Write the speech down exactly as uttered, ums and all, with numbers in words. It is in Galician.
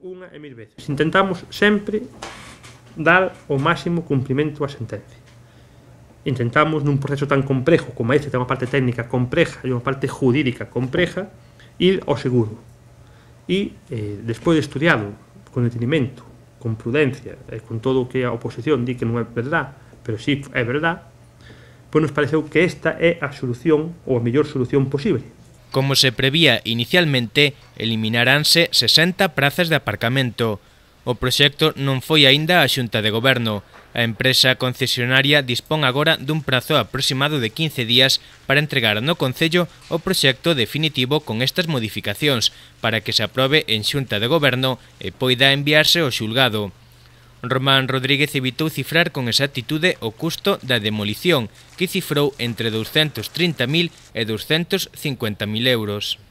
unha e mil veces. Intentamos sempre dar o máximo cumprimento á sentencia. Intentamos nun proceso tan complejo como este, ten unha parte técnica compleja e unha parte jurídica compleja, ir ao seguro. E, eh, despois de estudiado con detenimento, con prudencia e con todo o que a oposición di que non é verdad, pero sí é verdad, pois nos pareceu que esta é a solución ou a mellor solución posible. Como se prevía inicialmente, eliminaránse sesenta prazas de aparcamento. O proxecto non foi aínda á Xunta de Goberno. A empresa concesionaria dispón agora dun prazo aproximado de quince días para entregar no Concello o proxecto definitivo con estas modificacións para que se aprobe en Xunta de Goberno e poida enviarse ao xulgado. Román Rodríguez evitou cifrar con exactitude o custo da demolición, que cifrou entre douscentos trinta mil e douscentos cincuenta mil euros.